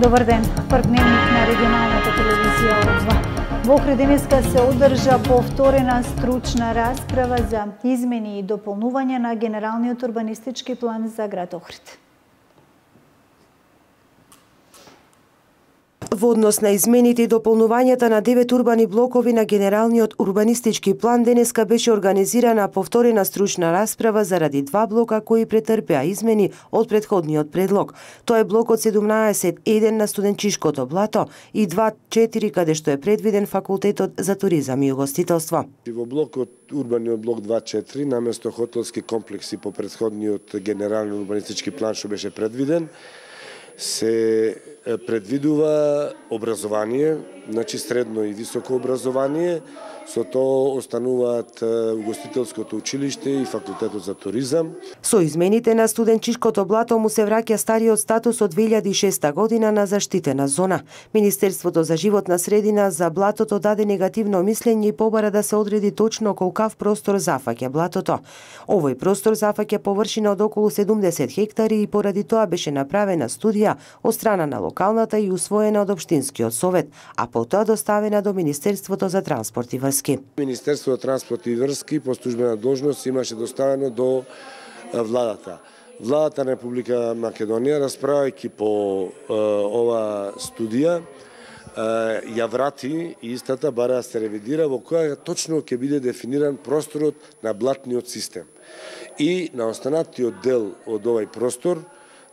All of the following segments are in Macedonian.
Добар ден, прв дневник на регионалната телевизија О2. Во Охрид денеска се одржа повторена стручна расправа за измени и дополнување на генералниот урбанистички план за град Охрид. Во однос на измените и дополнувањата на 9 урбани блокови на генералниот урбанистички план денеска беше организирана повторена стручна расправа заради два блока кои претрпеа измени од претходниот предлог. Тоа е блокот 17-1 на Студенчишкото блато и 2-4 каде што е предвиден факултетот за туризам и угостителство. Во блокот урбаниот блок 2-4 наместо хотелски комплекси по претходниот генерален урбанистички план што беше предвиден, се предвидува образование, значи средно и високо образование, со тоа остануваат угостителското училиште и факултетот за туризам. Со измените на Студенчишкото блато му се враќа стариот статус од 2006 година на заштитена зона. Министерството за животна средина за блатото даде негативно мислење и побара да се одреди точно колкав простор зафаќа блатото. Овој простор зафаќа површина од околу 70 хектари и поради тоа беше направена студија од страна на локалната и усвоена од Општинскиот совет, а потоа доставена до Министерството за транспорт и врски. Министерството за транспорт и врски по службена должност имаше доставено до владата. Владата на Република Македонија, расправајќи по ова студија, ја врати и истата бара да се ревидира во која точно ќе биде дефиниран просторот на блатниот систем. И на останатиот дел од овој простор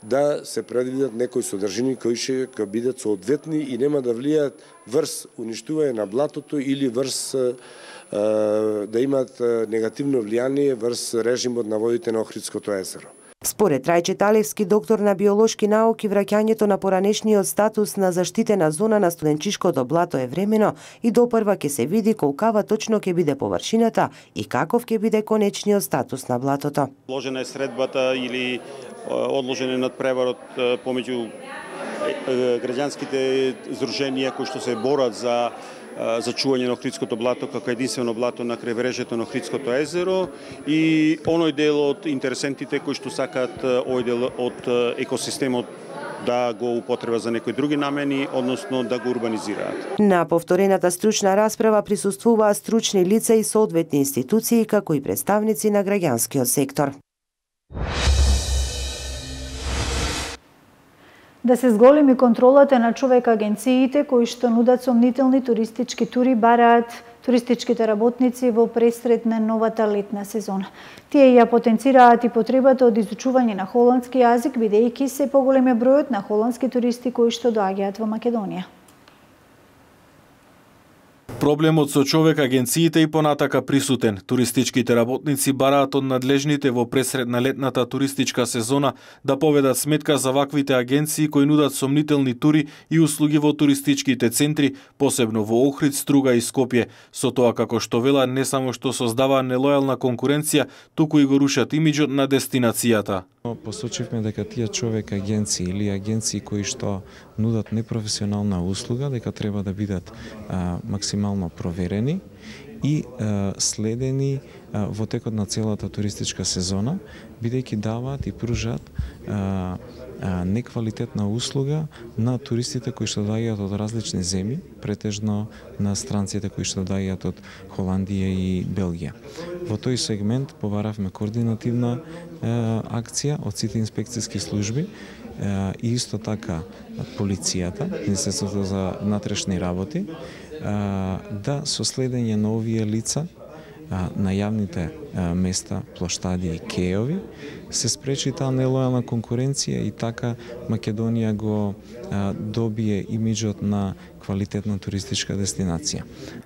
да се предвидат некои содржини кои ќе бидат соодветни и нема да влијаат врз уништување на блатото или врз да имаат негативно влијание врз режимот на водите на Охридското езеро. Според Трајче Талевски, доктор на биолошки науки, враќањето на поранешниот статус на заштитена зона на Студенчишкото блато е времено и допрва ќе се види колкава точно ќе биде површината и каков ќе биде конечниот статус на блатото. Одложена е средбата или одложен е надпреварот помеѓу граѓанските здруженија кои што се борат за чување на Охридското блато како единствено блато на крајбрежјето на Охридското езеро и оној дел од интересентите кои што сакаат овој дел од екосистемот да го употреба за некои други намени, односно да го урбанизираат. На повторената стручна расправа присуствуваа стручни лица и соодветни институции како и представници на граѓанскиот сектор. Да се зголеми контролата на човек агенциите кои што нудат сомнителни туристички тури бараат туристичките работници во пресред на новата летна сезона. Тие ја потенцираат и потребата од изучување на холандски јазик, бидејќи се поголем е бројот на холандски туристи кои што доаѓаат во Македонија. Проблемот со човек агенциите и понатака присутен. Туристичките работници бараат од надлежните во пресред на летната туристичка сезона да поведат сметка за ваквите агенции кои нудат сомнителни тури и услуги во туристичките центри, посебно во Охрид, Струга и Скопје. Со тоа како што вела не само што создава нелојална конкуренција, туку и го рушат имиџот на дестинацијата. Посочивме дека тие човек агенции или агенции кои што нудат непрофесионална услуга, дека треба да бидат максимално проверени и следени во текот на целата туристичка сезона, бидејќи даваат и пружат неквалитетна услуга на туристите кои што доаѓаат од различни земји, претежно на странците кои што доаѓаат од Холандија и Белгија. Во тој сегмент побаравме координативна акција од сите инспекцијски служби и исто така полицијата, Министерството за внатрешни работи, да со следење на овие лица на јавните места, плоштади и кеови, се спречи таа нелојална конкуренција и така Македонија го добие имиџот на квалитетна туристичка дестинација.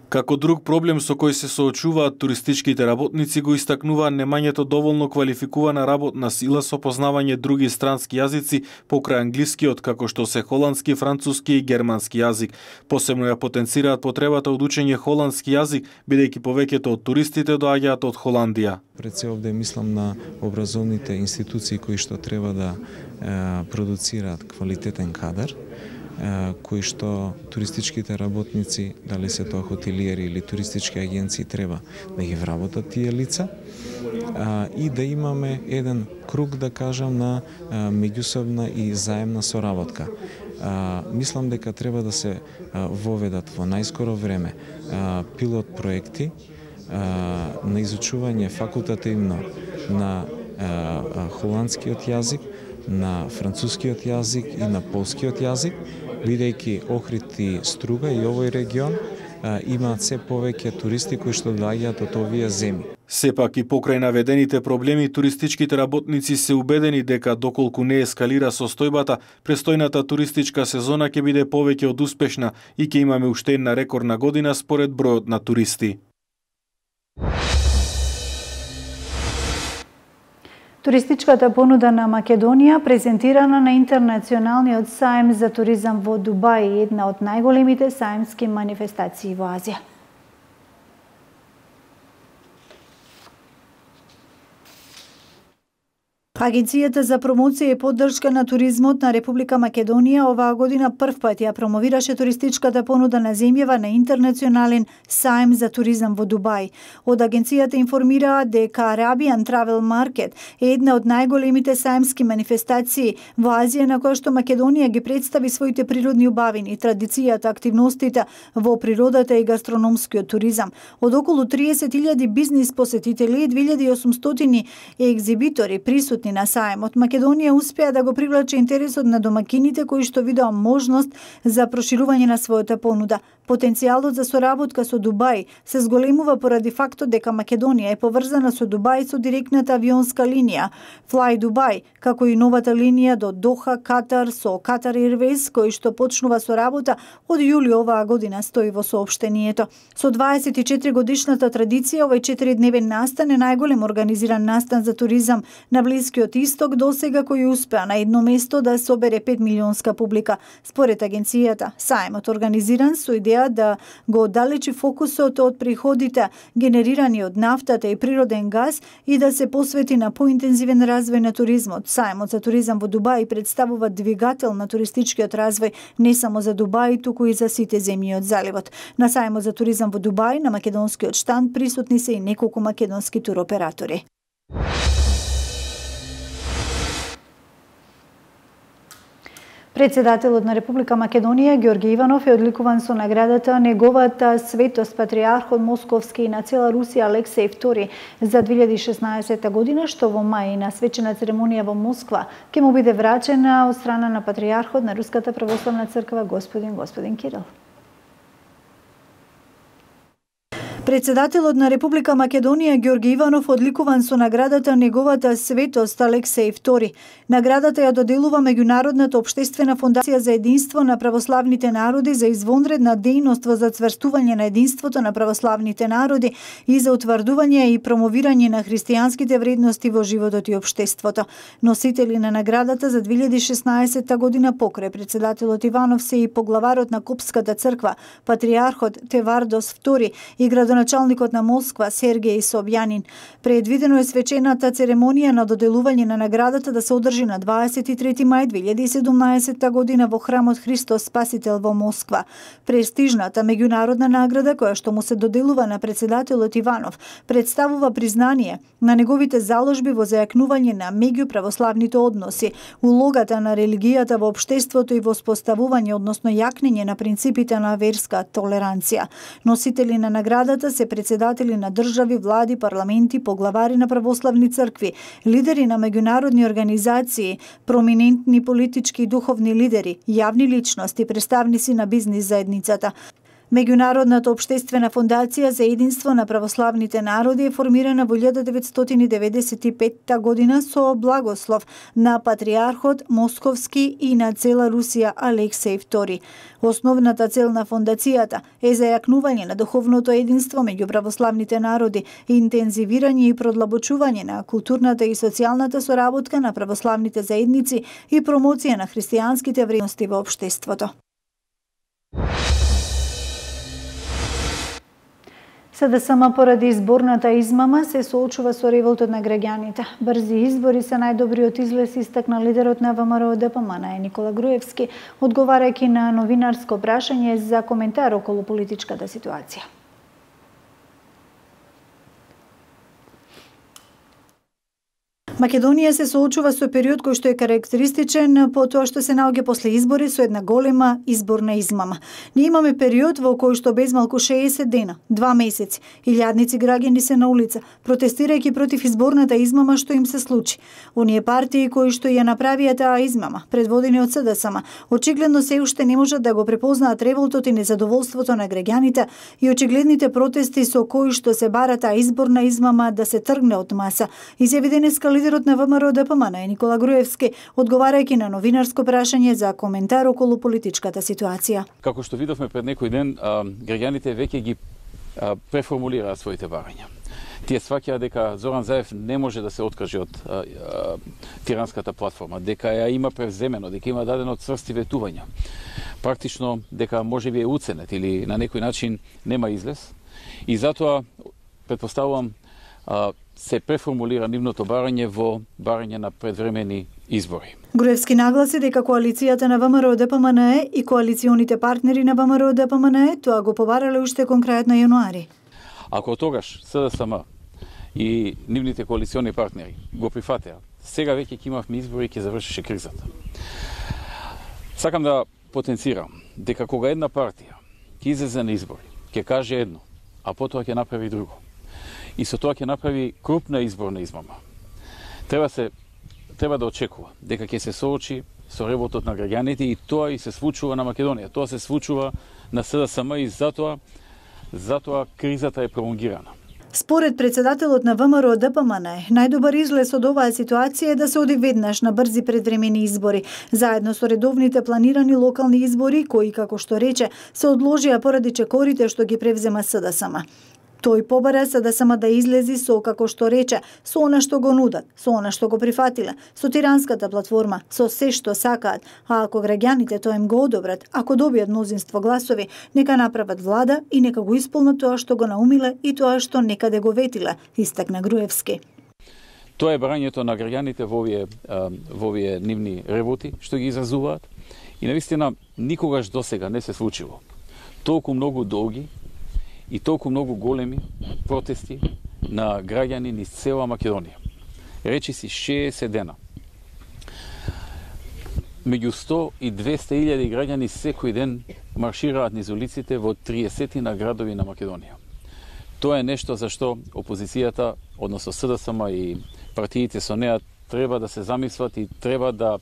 Како друг проблем со кој се соочуваат туристичките работници го истакнуваат немањето доволно квалификувана работна сила со познавање други странски јазици покрај англискиот, како што се холандски, француски и германски јазик. Посебно ја потенцираат потребата од учење холандски јазик, бидејќи повеќето од туристите доаѓаат од Холандија. Пред се овде мислам на образовните институции кои што треба да продуцираат квалитетен кадар, кои што туристичките работници, дали се тоа хотелиери или туристички агенции, треба да ги вработат тие лица и да имаме еден круг, да кажам, на меѓусобна и заемна соработка. Мислам дека треба да се воведат во најскоро време пилот проекти на изучување факултативно на холандскиот јазик, на францускиот јазик и на полскиот јазик, бидејќи Охрид и Струга и овој регион имаат се повеќе туристи кои што доаѓаат од овие земји. Сепак и покрај наведените проблеми, туристичките работници се убедени дека доколку не ескалира состојбата, престојната туристичка сезона ќе биде повеќе од успешна и ќе имаме уште една рекордна година според бројот на туристи. Туристичката понуда на Македонија презентирана на Интернационалниот саем за туризам во Дубај, една од најголемите саемски манифестации во Азија. Агенцијата за промоција и поддршка на туризмот на Република Македонија оваа година прв пат ја промовираше туристичката понуда на земјава на Интернационален саем за туризам во Дубај. Од агенцијата информираат дека Arabian Travel Market е една од најголемите саемски манифестации во Азија на која што Македонија ги представи своите природни убавини, традицијата, активностите во природата и гастрономскиот туризам. Од околу 30.000 бизнис посетители и 2.800 екзибитори присутни на саемот, Македонија успеа да го привлече интересот на домакините кои што видоа можност за проширување на својата понуда. Потенцијалот за соработка со Дубај се зголемува поради фактот дека Македонија е поврзана со Дубај со директната авионска линија Fly Dubai, како и новата линија до Доха, Катар со Qatar Airways, кој што почнува со работа од јули оваа година, стои во соопштението. Со 24 годишната традиција, овој 4-дневен настан е најголем организиран настан за туризам на Блискиот Исток досега, кој успеа на едно место да собере 5 милионска публика. Според агенцијата, саемот организиран со идеја да го оддалечи фокусот од приходите генерирани од нафтата и природен газ и да се посвети на поинтензивен развој на туризмот. Саемот за туризам во Дубај представува двигател на туристичкиот развој не само за Дубај, туку и за сите земји од заливот. На саемот за туризам во Дубај на македонскиот штанд присутни се и неколку македонски туроператори. Председателот на Република Македонија Ѓорги Иванов е одликуван со наградата Неговата светост патријархот Московски и на цела Русија Алексеј II за 2016 година, што во мај на свечена церемонија во Москва ќе му биде врачена од страна на патријархот на Руската православна црква господин Кирил. Председателот на Република Македонија Ѓорги Иванов одликуван со наградата Неговата светост Алексеј II. Наградата ја доделува Меѓународната општествена фондација за единство на православните народи за извонредна дејност во зацврстување на единството на православните народи и за утврдување и промовирање на христијанските вредности во животот и општеството. Носители на наградата за 2016 година покрај председателот Иванов се и поглаварот на Копската црква, патријархот Тевардос II и градоначалникот на Москва Сергеј Собјанин. Предвидено е свечената церемонија на доделување на наградата да се одржи на 23 мај 2017 година во храмот Христос Спасител во Москва. Престижната меѓународна награда која што му се доделува на председателот Иванов представува признание на неговите заложби во зајакнување на меѓуправославните односи, улогата на религијата во општеството и во споставување, односно јакнење на принципите на верска толеранција. Носители на наградата се председатели на држави, влади, парламенти, поглавари на православни цркви, лидери на меѓународни организации, проминентни политички и духовни лидери, јавни личности, представници на бизнис заедницата. Меѓународната општествена фондација за единство на православните народи е формирана во 1995 година со благослов на патријархот Московски и на цела Русија Алексеј II. Основната цел на фондацијата е зајакнување на духовното единство меѓу православните народи, интензивирање и продлабочување на културната и социјалната соработка на православните заедници и промоција на христијанските вредности во општеството. СДСМ поради изборната измама се соочува со револтот на граѓаните. Брзи избори се најдобриот излез, истакна лидерот на ВМРО ДПМН Никола Груевски, одговарајќи на новинарско прашање за коментар околу политичката ситуација. Македонија се соочува со период кој што е карактеристичен по тоа што се наоѓа после избори со една голема изборна измама. Ние имаме период во кој што без малку 60 дена, 2 месеци, илјадници граѓани се на улица, протестирајќи против изборната измама што им се случи. Оние партии кои што ја направија таа измама, предводени од СДСМ, очигледно се уште не можат да го препознаат револтот и незадоволството на граѓаните и очигледните протести со кои што се бара таа изборна измама да се тргне од маса, изјави денеска лидерот на ВМРО-ДПМН Никола Груевски, одговарајќи на новинарско прашање за коментар околу политичката ситуација. Како што видовме пред некој ден, граѓаните веќе ги преформулираат своите барања. Тие сваќаат дека Зоран Заев не може да се откаже од тиранската платформа, дека ја има превземено, дека има дадено црсти ветувања. Практично дека можеби е уценет или на некој начин нема излез. И затоа претпоставувам се преформулира нивното барање во барање на предвремени избори. Груевски нагласи дека коалицијата на ВМРО-ДПМН и коалиционите партнери на ВМРО-ДПМН тоа го побарале уште кон крајот на јануари. Ако тогаш СДСМ и нивните коалициони партнери го прифатеа, сега веќе ќе имавме избори и ќе завршише кризата. Сакам да потенцирам дека кога една партија ќе излезе на избори, ќе каже едно, а потоа ќе направи друго. И со тоа ќе направи крупна изборна измама. Треба да очекува дека ќе се соочи со револтот на граѓаните и тоа и се случува на Македонија. Тоа се случува на СДСМ и затоа кризата е пролонгирана. Според председателот на ВМРО-ДПМН, најдобар излез од оваа ситуација е да се оди веднаш на брзи предвремени избори, заедно со редовните планирани локални избори, кои, како што рече, се одложија поради чекорите што ги превзема СДСМ. Тој побара СДСМ да излези со, како што рече, со она што го нудат, со она што го прифатиле, со тиранската платформа, со се што сакаат, а ако граѓаните тоа им го одобрат, ако добијат мнозинство гласови, нека направат влада и нека го исполнат тоа што го наумиле и тоа што некаде го ветиле, истакна Груевски. Тоа е барањето на граѓаните во овие нивни револти што ги изразуваат и навистина никогаш досега не се случило толку многу долги и толку многу големи протести на граѓани низ цела Македонија. Речи си 60 дена. Меѓу 100 и 200 илјади граѓани секој ден маршираат низ улиците во 30 на градови на Македонија. Тоа е нешто за што опозицијата, односно СДСМ и партиите со неа треба да се замислат и треба да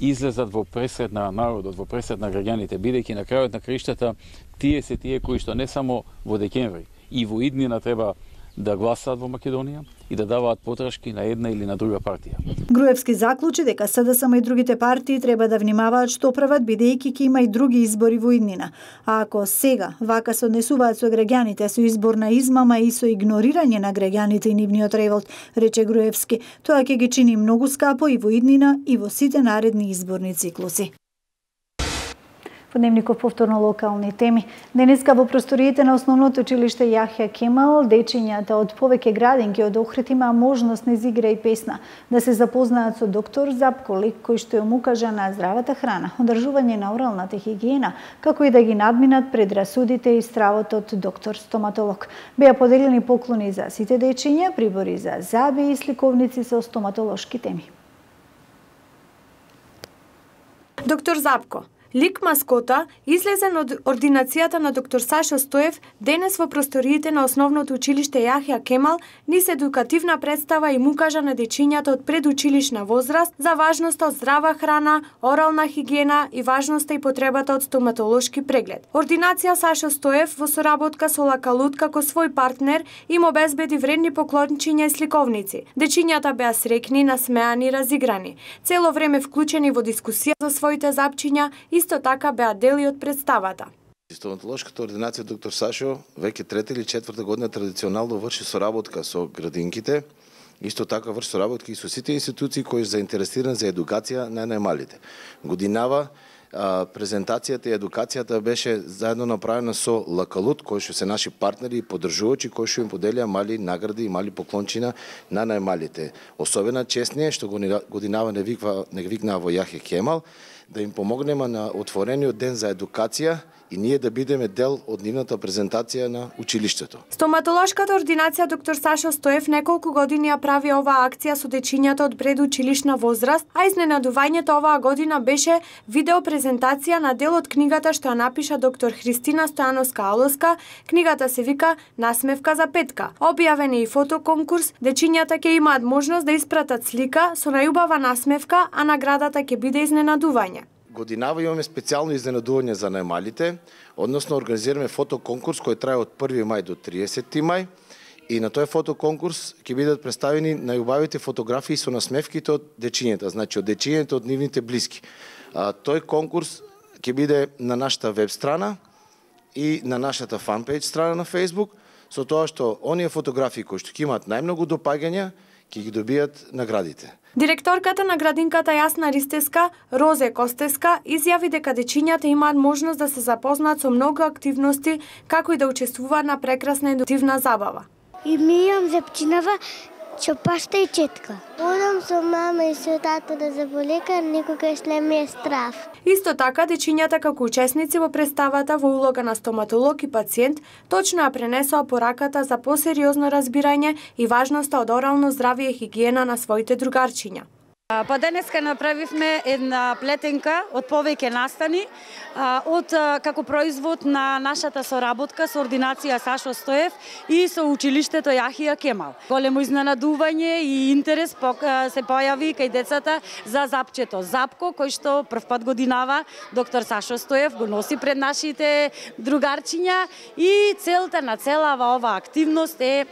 излезат во пресред на народот, во пресред на граѓаните, бидејќи на крајот на краиштата тие се тие кои што не само во декември и во иднина треба да гласаат во Македонија и да даваат подршки на една или на друга партија. Груевски заклучи дека СДСМ и другите партии треба да внимаваат што прават, бидејќи ќе има и други избори во иднина. А ако сега вака се однесуваат со граѓаните со изборна измама и со игнорирање на граѓаните и нивниот револт, рече Груевски, тоа ќе ги чини многу скапо и во иднина и во сите наредни изборни циклуси. Во дневников повторно локални теми. Денеска во просториите на Основното училиште Јахја Кемал, дечињата од повеќе градинки од Охрид имаа можност низ игра и песна да се запознаат со доктор Запко, лек кој што им укажа на здравата храна, одржување на оралната хигиена, како и да ги надминат предрасудите и стравот од доктор стоматолог. Беа поделени поклони за сите дечиња, прибори за заби и сликовници со стоматолошки теми. Доктор Запко, лик маскота, излезен од ординацијата на доктор Сашо Стоев, денес во просториите на Основното училиште Јахја Кемал, низ едукативна представа им укажа на дечињата од предучилишна возраст за важноста од здрава храна, орална хигиена и важноста и потребата од стоматолошки преглед. Ординација Сашо Стоев во соработка со Лакалут како свој партнер им обезбеди вредни поклончиња и сликовници. Дечињата беа среќни, насмеани и разиграни, цело време вклучени во дискусија за своите запчиња, исто така беа дели од представата. Стоматолошката ординација доктор Сашо веќе трета или четврта година традиционално врши соработка со градинките, исто така врши соработка и со сите институции кои се заинтересирани за едукација на најмалите. Годинава презентацијата и едукацијата беше заедно направена со Лакалут, кои што се наши партнери и поддржувачи, кои што им поделија мали награди и мали поклончина на најмалите. Особена чест ни е што годинава не викнаа во Јахја Кемал, да им помогнеме на отворениот ден за едукација и ние да бидеме дел од нивната презентација на училиштето. Стоматолошката ординација доктор Сашо Стоев неколку години ја прави оваа акција со дечињата од предучилишна возраст, а изненадувањето оваа година беше видео презентација на дел од книгата што ја напиша доктор Христина Стојановска-Алоска. Книгата се вика Насмевка за петка. Објавен е и фотоконкурс, дечињата ќе имаат можност да испратат слика со најубава насмевка, а наградата ќе биде изненадување. Годинава имаме специјално изненадување за најмалите, односно организираме фотоконкурс кој трае од 1 мај до 30 мај и на тој фотоконкурс ќе бидат представени најубавите фотографии со насмевките од дечињата, значи од дечињата од нивните блиски. Тој конкурс ќе биде на нашата веб страна и на нашата фанпејдж страна на Facebook, со тоа што оние фотографии кои што ќе имаат најмногу допаѓања ќе ги добијат наградите. Директорката на градинката Јасна Ристеска, Розе Костеска, изјави дека дечињата имаат можност да се запознаат со многу активности, како и да учествуваат на прекрасна едуктивна забава. И ми имам зепчинава, чопашта и четка. Одам со мама и со тато да заболекар, никогаш не ми е страв. Исто така, дечињата како учесници во представата во улога на стоматолог и пациент точно ја пренесоа пораката за посериозно разбирање и важноста од орално здравје и хигиена на своите другарчиња. Па денеска направивме една плетенка од повеќе настани од како производ на нашата соработка со ординација Сашо Стоев и со училиштето Јахја Кемал. Големо изненадување и интерес се појави кај децата за запчето Запко, кој што првпат годинава доктор Сашо Стоев го носи пред нашите другарчиња и целта на целава ова активност е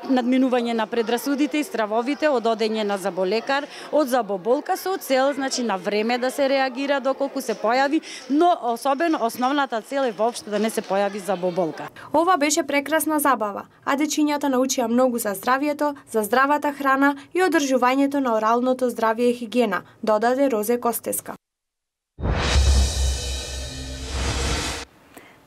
надминување на предрасудите и стравовите од одење на заболекар, од забоболка со цел, значи на време да се реагира доколку се појави, но особено основната цел е воопшто да не се појави забоболка. Ова беше прекрасна забава, а дечињата научија многу за здравјето, за здравата храна и одржувањето на оралното здравје и хигиена, додаде Розе Костеска.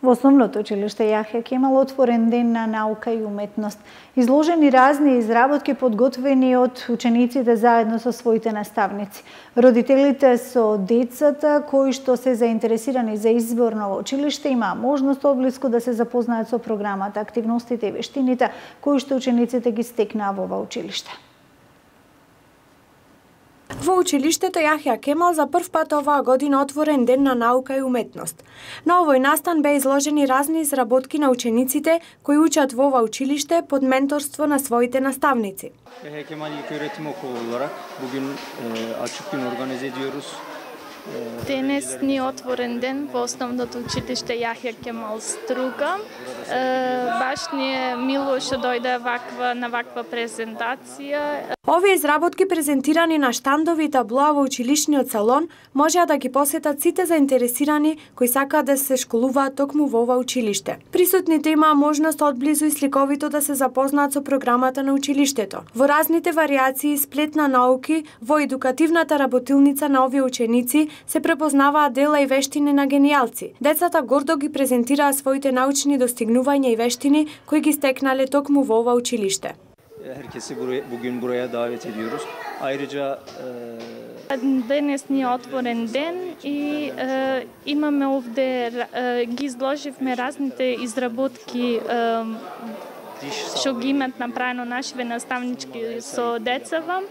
Во основното училиште Јахја Кемал отворен ден на наука и уметност. Изложени разни изработки подготвени од учениците заедно со своите наставници. Родителите со децата кои што се заинтересирани за избор на училиште имаа можност одблиску да се запознаат со програмата, активностите и вештините кои што учениците ги стекнаа во ова училиште. Во училиштето Јахја Кемал за прв пат оваа година отворен ден на наука и уметност. На овој настан беа изложени разни изработки на учениците кои учат во ова училиште под менторство на своите наставници. Јахја Кемал ilk öğretim okulu olarak bugün açık gün organize ediyoruz. Денес ни отворен ден во основното училиште Јахја Кемал Струга. Баш ни е мило што дојде на ваква презентација. Овие изработки презентирани на штандови и таблоа во училишниот салон можеа да ги посетат сите заинтересирани кои сакаат да се школуваат токму во ова училиште. Присутните имаа можност одблизу и сликовито да се запознаат со програмата на училиштето. Во разните варијации и сплет на науки, во едукативната работилница на овие ученици се препознаваат дела и вештини на генијалци. Децата гордо ги презентираа своите научни достигнувања и вештини кои ги стекнале токму во ова училиште. Herkesi bugün buraya davet ediyoruz. Ayrıca Денес ни е отворен ден и имаме овде ги изложивме разните изработки што ги имат направено нашиве наставнички со децава.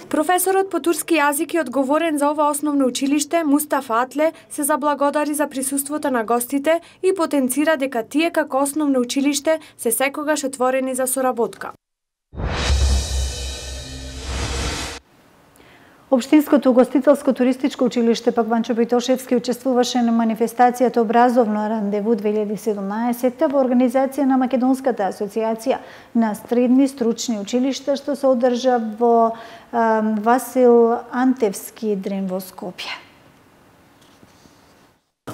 Професорот по турски јазик и одговорен за ова основно училиште, Мустафа Атле, се заблагодари за присуството на гостите и потенцира дека тие како основно училиште се секогаш отворени за соработка. Општинското угостителско туристичко училиште пак Ванчо Битошевски учествуваше на манифестацијата Образовно рандеву 2017 во организација на Македонската асоциација на средни стручни училишта што се одржа во Васил Антевски дрен во Скопје.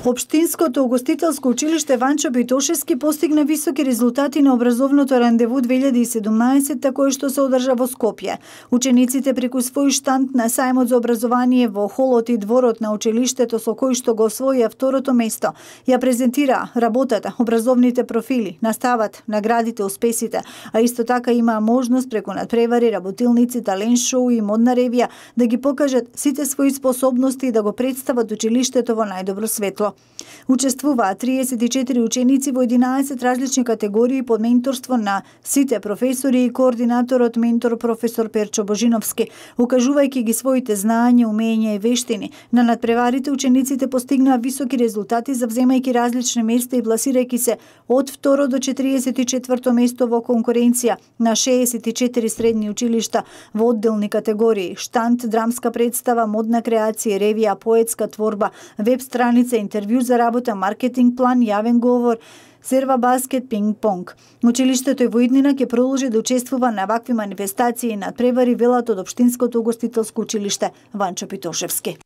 Општинското угостителско училиште Ванчо Битошевски постигна високи резултати на образовното рандеву 2017 кое што се одржа во Скопје. Учениците преку свој штанд на сајмот за образование во холот и дворот на училиштето со кој што го освоија второто место, ја презентираа работата, образовните профили, настават, наградите, успесите, а исто така имаа можност преку надпревари, работилници, талент шоу и модна ревија да ги покажат сите своји способности и да го представат училиштето во најдобро светло. училиштето. Учествуваа 34 ученици во 11 различни категории под менторство на сите професори и координаторот ментор професор Перчо Божиновски, укажувајќи ги своите знаења, умења и вештини. На надпреварите учениците постигнаа високи резултати, завземајќи различни места и пласирајќи се од 2 до 44 место во конкуренција на 64 средни училишта во одделни категории: штант, драмска представа, модна креација, ревија, поетска творба, веб страница, интервју за работа, маркетинг план, јавен говор, серва баскет, пинг-понг. Училиштето и во иднина ќе продолжи да учествува на вакви манифестации и надпревари, велат од Општинското угостителско училиште Ванчо Питошевски.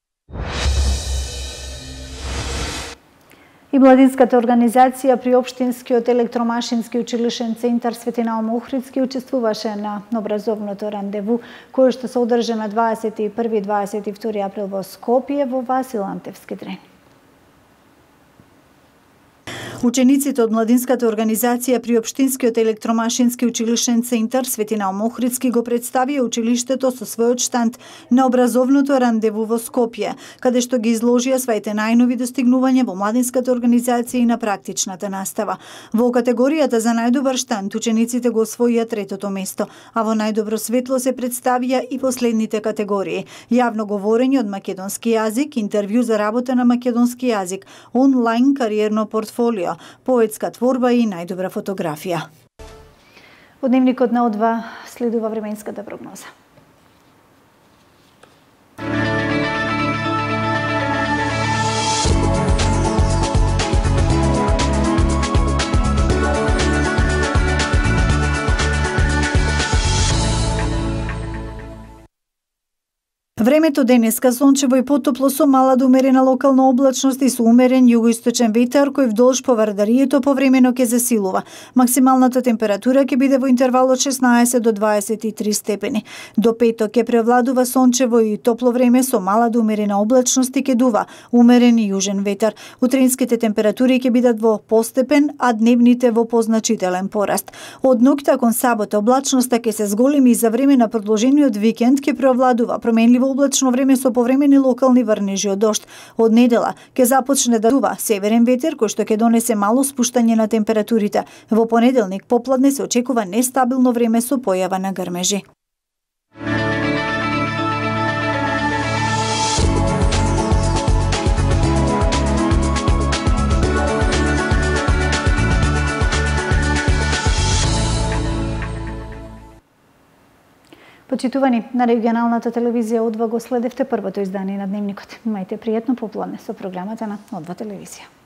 И младинската организација при Општинскиот електромашински училишен центар Светина Ом Охридски учествуваше на образовното рандеву, кој што се одржа на 21-22 април во Скопје во Васил Антевски трен. Учениците од младинската организација при Општинскиот електромашински училишен центар Светина Ом Охридски го представија училиштето со својот штанд на образовното рандеву во Скопје, каде што ги изложија своите најнови достигнувања во младинската организација и на практичната настава. Во категоријата за најдобар штанд учениците го освоија третото место, а во најдобро светло се представија и последните категории: јавно говорење од македонски јазик, интервју за работа на македонски јазик, онлайн кариерно портфолио, поетска творба и најдобра фотографија. Од дневникот на О2 следува временската прогноза. Времето денеска сончево и потопло со мала до умерена локална облачност и со умерен југоисточен ветар кој вдолж по Вардарието повремено ќе засилува. Максималната температура ќе биде во интервал од 16 до 23 степени. До петок ќе превладува сончево и топло време со мала до умерена облачност и ќе дува умерен и јужен ветар. Утринските температури ќе бидат во постепен, а дневните во позначителен пораст. Од ноќта кон сабота облачноста ќе се зголеми и за време на продолжениот викенд ќе преовладува променливо облачно време со повремени локални врнежи од дожд. Од недела ќе започне да дува северен ветер кој што ќе донесе мало спуштање на температурите. Во понеделник попладне се очекува нестабилно време со појава на грмежи. Почитувани, на регионалната телевизија О2 го следевте првото издание на Дневникот. Имајте пријатно попладне со програмата на О2 телевизија.